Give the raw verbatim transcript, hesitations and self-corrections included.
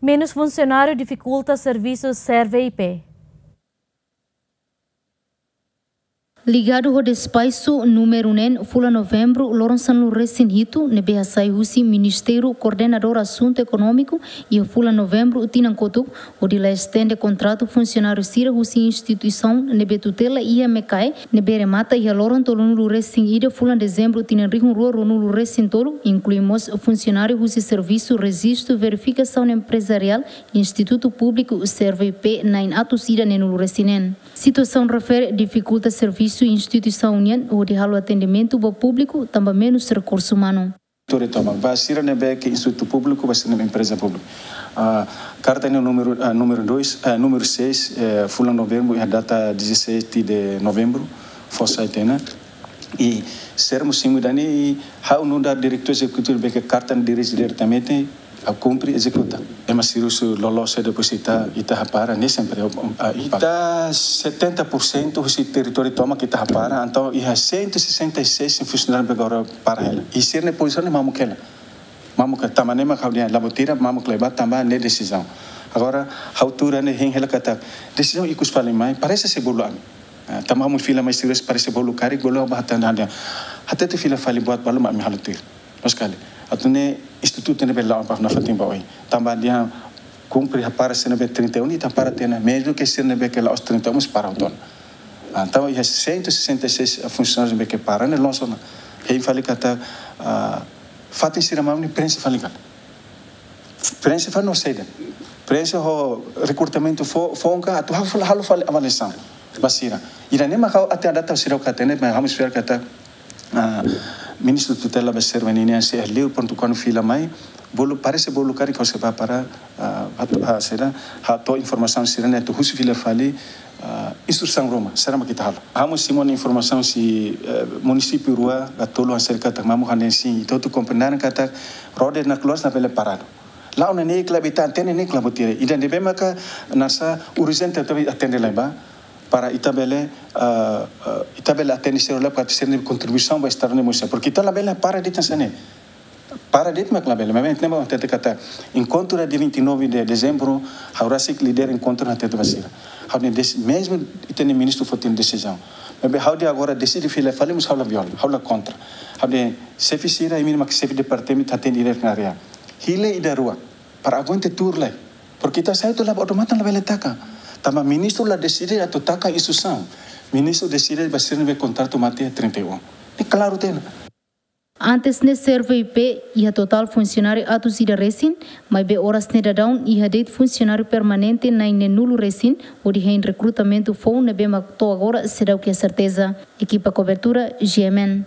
Menus funsionáriu difikulta servisu SERVIPE. Ligadu ho despaxu númeru neen fulan Novembru loron sanulu resin hitu ne'ebé hasai husi Ministériu Koordenadór Asuntu Ekonómiku iha fulan Novembru tinan kotuk, hodi la estende kontratu funsionáriu sira husi instituisaun ne'ebé tutela iha MECAE, ne'ebé remata iha loron tolunulu resin ida fulan Dezembru tinan rihun rua ruanulu resin tolu, inklui mós funsionáriu husi Servisu Rejistu Verifikasaun Emprezariál, Institutu Públiku, SERVIPE, na'in atus ida neenulu resin neen. Situasaun refere difikulta servisu instituisaun nian hodi halo atendimentu ba públiku tanba menus rekursu umanu. Diretór toma ba sira ne'ebé ke institutu públiku, ba sira ne'ebé empreza públika. Ah, karta ne'e númeru, ah, númeru dois, ah, númeru seis, eh, fulan Novembru, iha data dezassete de Novembru, fó sai tiha ona. I sermu simu dani, i ha'u nu'udar diretór ezekutivu ne'ebé ke karta dirije diretamente, ha'u kumpre, ezekuta. Ema sira husi loloos depois ita, ita hapara, ne'e sempre, ah, impaktu. Ita setenta por cento husi territóriu tomak ita hapara, entaun iha cento e sessenta e seis funsionáriu ne'ebé agora para hela. I sira-nia pozisaun ne'e mamuk hela. Mamuk hela, tanba ne'e mak ha'u dehan la buat ida, mamuk hela ba tanba ne'e desizaun. Agora, ha'u tuur ne'e hein hela katak, desizaun ikus fali mai, parese sei bolu ami. Ah, tanba ami fila mai sira parese bolu karik, bolu ba hatán dehan. Hatete fila fali buat balu mak ami halo tuir. Loos fali. Atu ne'e institutu ne'ebé la'o ba nafatin ba oin. Tanba dehan kumpre hapara sira ne'ebé trinta e um, ita hapara tiha ona, mezmu ke sira ne'ebé ke la'ós trinta e um, mós para hotu ona. Ah, entaun, iha cento e sessenta e seis funsionáriu ne'ebé ke para ne'e loos ona. Hein fali katak, ah, fatin sira mamuk ne'e preenxe fali ka lae. Preenxe fali no saida. Preenxe ho rekrutamentu fó, fó ka atu halo, halo fali avaliasaun ba sira. Ida-ne'e mak ha'u até à data seidauk hatene, mas ha'u espera katak, ah, ministru tutela ba SERVE nian sei liu prontu kuandu fila mai, bolu, parese bolu karik ha'u sei bá para, ah, atu, ah, saida, hato'o informasaun sira-ne'e atu husu fila fali, ah, instrusaun ruma, saida mak ita halo. Ha'u mós simu ona informasaun husi, eh, munisípiu rua ka tolu hanesan katak mamuk hanesan, ita hotu komprende katak roda nakloas labele paradu. La'o ne'e ne'e klabe ita hatene ne'e klabe tire. Ida ne'ebé maka hanesan urjente atu atende lai ba. Para ita bele, ah, ah, ita bele atende sira lai para sira-nia kontribuisaun ba estadu ne'e mós. Porque ita labele para de'it hanesan ne'e. Para de'it mak labele. Mas ne'e mak hatete katak enkontru dia vinte e nove de Dezembru, ha'u rasik lidera enkontru hatete ba sira. Ha'u dehan des-, mezmu ita-nia ministru fó tiha ona desizaun. Mas ha'u dehan agora deside fila fali mós ha'u la viola, ha'u la kontra. Ha'u dehan xefe sira, imi mak xefe departamentu hatene diretu na área. Hili ida rua, para aguenta tuur lai. Porque ita sai hotu la ba oto matan labele taka. Tanba ministru la deside atu taka instrusaun. Ministru deside ba sira ne'ebé kontratu mate trinta e um. Ne'e klaru tiha ona. Antes ne'e SERVE I P iha totál funsionáriu atus ida resin, maibé oras ne'e daudaun iha de'it funsionáriu permanente na'in neenulu resin, hodi hein rekrutamentu foun ne'ebé mak to'o agora seidauk iha serteza. Ekipa kobertura, G M N.